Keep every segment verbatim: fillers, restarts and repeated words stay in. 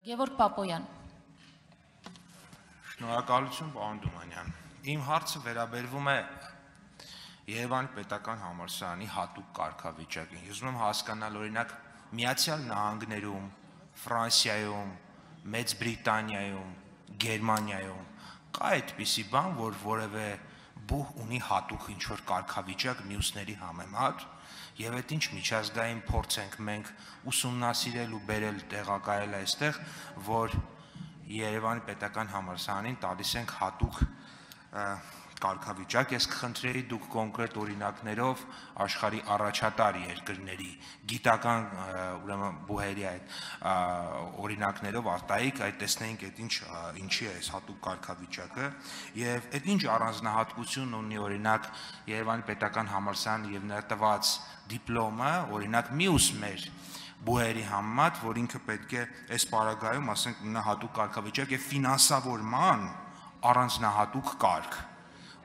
Գևորգ Պապոյան։ Շնորհակալություն, պարոն Դումանյան։ Իմ հարցը վերաբերվում է Երևանի պետական համալսարանի հատուկ կարգավիճակին։ Ես ուզում եմ հասկանալ, օրինակ, Միացյալ Նահանգներում, Ֆրանսիայում, Մեծ Բրիտանիայում, Գերմանիայում կա այդպիսի բան, որ որևէ բուհ ունի հատուկ ինչ-որ կարգավիճակ մյուսների համեմատ, եւ այդ ինչ միջազգային փորձ ենք մենք ուսումնասիրել ու բերել տեղակայել այստեղ, որ Երևանի պետական համալսարանին տալիս ենք հատուկ կարգավիճակ, ես կխնդրեի դուք կոնկրետ օրինակներով աշխարհի առաջատար երկրների գիտական ուրեմն բուհերի այդ օրինակներով արտահայտեք, այդ տեսնենք այդ ինչ ինչի է այս հատուկ կարգավիճակը եւ այդ ինչ առանձնահատկություն ունի օրինակ Երևանի պետական համալսարանը եւ նրա տված դիպլոմը, օրինակ մյուս մեր բուհերի համեմատ, որ ինքը պետք է այս պարագայում, ասենք, ունենա հատուկ կարգավիճակ եւ ֆինանսավորման առանձնահատուկ կարգ։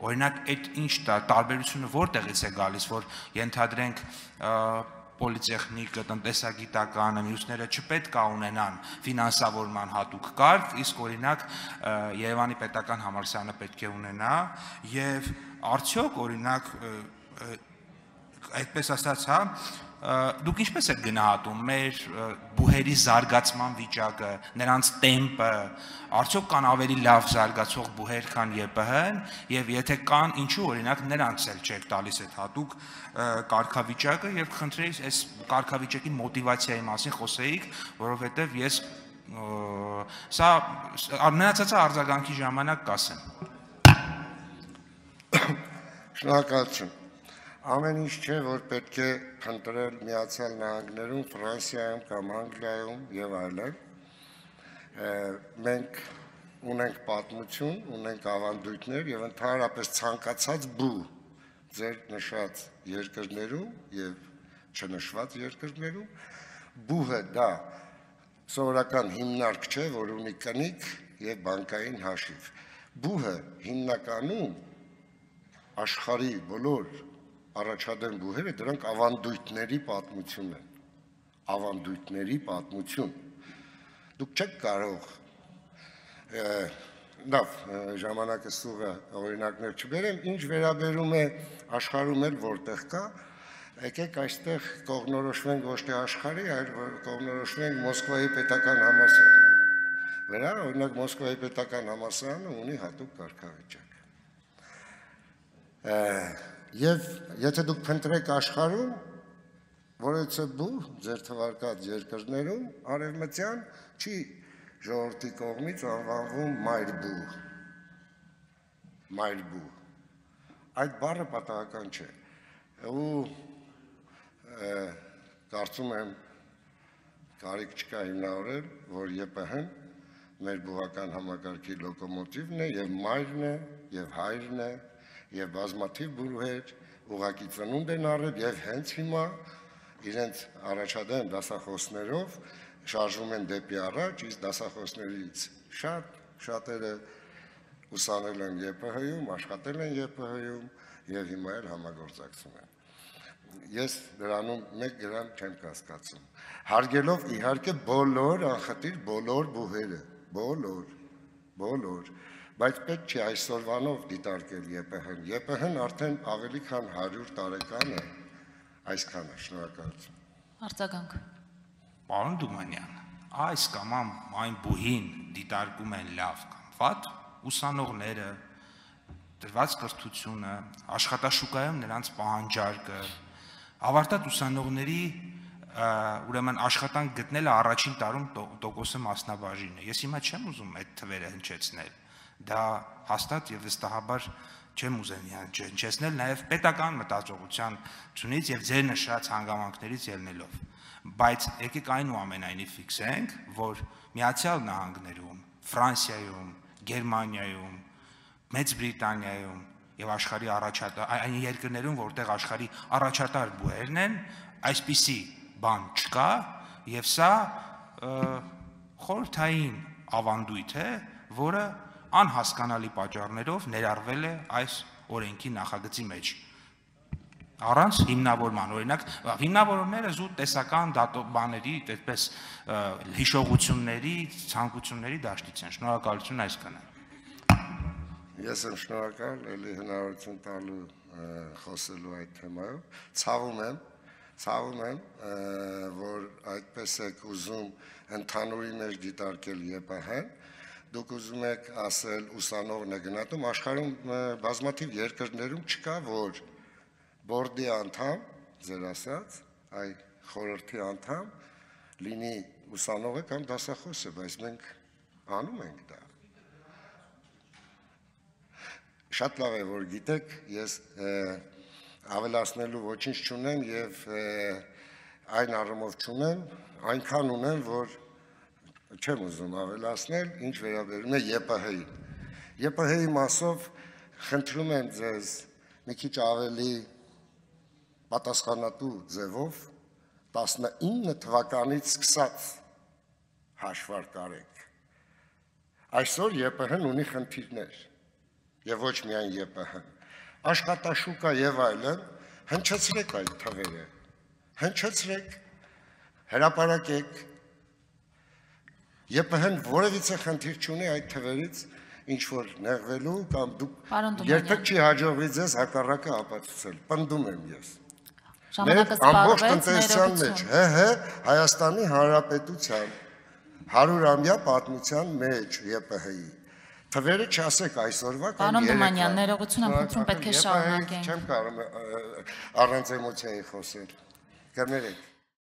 Օրինակ, այդ ինչ տարբերությունը որտեղից է գալիս, որ ենթադրենք պոլիտեխնիկը, տնտեսագիտականը, մյուսները չպետք է ունենան ֆինանսավորման հատուկ կարգ, իսկ օրինակ Երևանի պետական համալսարանը պետք է ունենա եւ արդյոք օրինակ այդպես ասած, հա, դուք ինչպես եք գնահատում մեր բուհերի զարգացման վիճակը, նրանց տեմպը, արդյոք կան ավելի լավ զարգացող բուհեր, քան ԵՊՀ-ն, եւ եթե կան, ինչու օրինակ նրանց էլ չեք տալիս այդ հատուկ կարգավիճակը եւ խնդրեի այս կարգավիճակի մոտիվացիայի մասին խոսեիք, որովհետեւ ես սա մնացածը արձագանքի ժամանակ կասեմ։ Շնորհակալություն։ Ամեն ինչ չէ, որ պետք է փնտրել Միացյալ Նահանգներում, Ֆրանսիայում կամ Անգլիայում եւ այլն։ Մենք ունենք պատմություն, ունենք ավանդույթներ եւ ընդհանրապես ցանկացած բու ձեր նշած երկրներում եւ չնշված երկրներում բուհը դա սովորական հիմնարկ չէ, որ ունի կնիկ եւ բանկային հաշիվ։ Բուհը հիմնականում աշխարհի բոլոր առաջադեմ բուհերը դրանք ավանդույթների պատմություն են, ավանդույթների պատմություն։ Դուք չեք կարող, լավ, ժամանակը սուղը օրինակներ չբերեմ, ինչ վերաբերում է աշխարհում էլ որտեղ կա, եկեք այստեղ կողմնորոշվենք ոչ թե աշխարհի, այլ կողմնորոշվենք Մոսկվայի պետական համալսարանի վրա, օրինակ Մոսկվայի պետական համալսարանը ունի հատուկ կարգավիճակ։ Եվ եթե դուք փնտրեք աշխարհում, որևէ բուհ ձեր թվարկած երկրներում արևմտյան չի ժողովրդի կողմից անվանվում մայր բուհ։ Մայր բուհ։ Այդ բառը պատահական չէ։ Ու կարծում եմ կարիք չկա հիմնավորել, որ ԵՊՀ-ն մեր բուհական համակարգի լոկոմոտիվն է եւ մայրն է եւ հայրն է եւ բազմաթիվ բուհեր ուղղակի ծնունդ են առել եւ հենց հիմա իրենց առաջադեմ դասախոսներով շարժվում են դեպի առաջ, իսկ դասախոսներից շատ շատերը ուսանել են ԵՊՀ-ում, աշխատել են ԵՊՀ-ում եւ հիմա էլ համագործակցում են։ Ես դրանում մեկ գրամ չեմ կասկածում։ Հարգելով իհարկե բոլոր անխտիր բոլոր բուհերը, բոլոր, բոլոր Բայց պետք չէ այսօրվանով դիտարկել ԵՊՀ-ն։ ԵՊՀ-ն արդեն ավելի քան հարյուր տարեկան է, այսքան է, շնորհակալություն։ Արձագանք։ Պարոն Դումանյան, այս կամ այն բուհին դիտարկում են լավ կամ վատ, ուսանողները, դրված կրթությունը, աշխատաշուկայում նրանց պահանջարկը, ավարտած ուսանողների ուրեմն աշխատանք գտնելը առաջին տարում տոկոսը մասնաբաժին է։ Ես հիմա չեմ ուզում այդ թվերը հնչեցնել։ Դա հաստատ եւ վստահաբար չեմ ուզեն հնչեցնել նաեւ պետական մտածողության ցունից եւ ձեր նշած հանգամանքներից ելնելով։ Բայց եկեք այնուամենայնիվ ֆիքսենք, որ Միացյալ Նահանգներում, Ֆրանսիայում, Գերմանիայում, Մեծ Բրիտանիայում եւ աշխարհի առաջատար այն երկրներում, որտեղ աշխարհի առաջատար բուհերն են, այսպիսի բան չկա եւ սա խորհրդային ավանդույթ է, որը անհասկանալի պատճառներով ներառվել է այս օրենքի նախագծի մեջ։ Առանց հիմնավորման, օրինակ, հիմնավորումները զուտ տեսական բաների, այդպես հիշողությունների, ցանկությունների դաշտից են։ Շնորհակալություն այսքանը։ Ես եմ շնորհակալ, ելի հնարավորություն տալու խոսելու այդ թեմայով։ Ցավում եմ, ցավում եմ, որ այդպես եք ուզում ընդհանուրի մեջ դիտարկել ԵՊՀ-ն, դուք ուզում եք ասել ուսանողն է գնահատում, աշխարհում բազմաթիվ երկրներում չկա, որ բորդի անդամ, ձեր ասած, այ խորհրդի անդամ լինի ուսանողը կամ դասախոսը, բայց մենք անում ենք դա։ Շատ լավ է, որ գիտեք, ես ավելացնելու ոչինչ չունեմ եւ այն առումով չունեմ, այնքան ունեմ, որ չեմ ուզում ավելացնել, ինչ վերաբերում է ԵՊՀ-ին։ ԵՊՀ-ի մասով խնդրում եմ ձեզ մի քիչ ավելի պատասխանատու ձևով տասնինը թվականից սկսած հաշվարկ արեք։ Այսօր ԵՊՀ-ն ունի խնդիրներ եւ ոչ միայն ԵՊՀ-ն։ Աշխատաշուկա եւ այլն, հնչեցրեք այդ թվերը, հնչեցրեք, հրապարակեք։ ԵՊՀ-ն որևիցե խնդիր չունի այդ թվերից ինչ որ նեղվելու կամ դուք երբեք չի հաջողվի ձեզ հակառակը ապացուցել։ Պնդում եմ ես։ Ժամանակը ամբողջ տնտեսության մեջ, ՀՀ Հայաստանի Հանրապետության հարյուրամյա պատմության մեջ ԵՊՀ-ի թվերը չասեք այսօրվա կամ Պարոն Դումանյան, ներողություն եմ խնդրում, պետք է շարունակենք։ Չեմ կարող առանց էմոցիայի խոսել։ Կներեք։